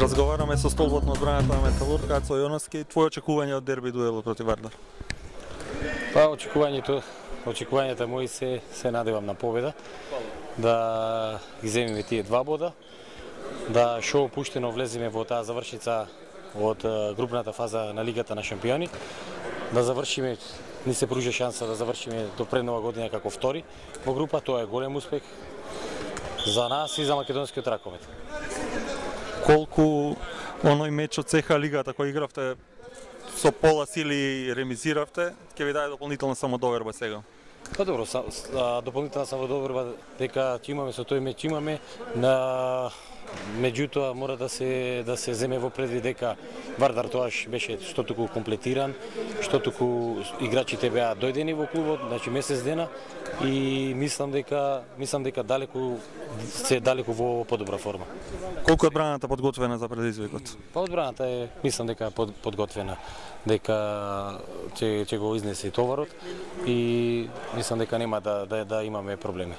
Разговараме со столбот на одбраната на Металург, Ацо Јоновски. Твои очекувања од дерби дуелот против Вардар? Па очекувањата мои се надевам на победа, да ги земиме тие 2 бода, да шо опуштено влеземе во таа завршница од групната фаза на Лигата на шампиони, да завршиме, ни се пружи шанса да завршиме до пред нова година како втори во група, тоа е голем успех за нас и за македонскиот раковет. Колку оној меч од ЦХ Лигата кој игравте со пола сили ремизиравте, ќе ви даде дополнителна самодоверба сега? Па добро, дополнителна самодоверба дека ќе имаме со тој меч имаме, меѓутоа мора да се земе во предвид дека Вардар тоаш беше што туку комплетиран, што туку играчите беа дојдени во клубот, значи месец дена, и мислам дека далеку во подобра форма. Колку е одбраната подготвена за предизвикот? Па одбраната мислам дека подготвена, дека ќе го изнесе товарот и мислам дека нема да имаме проблеми.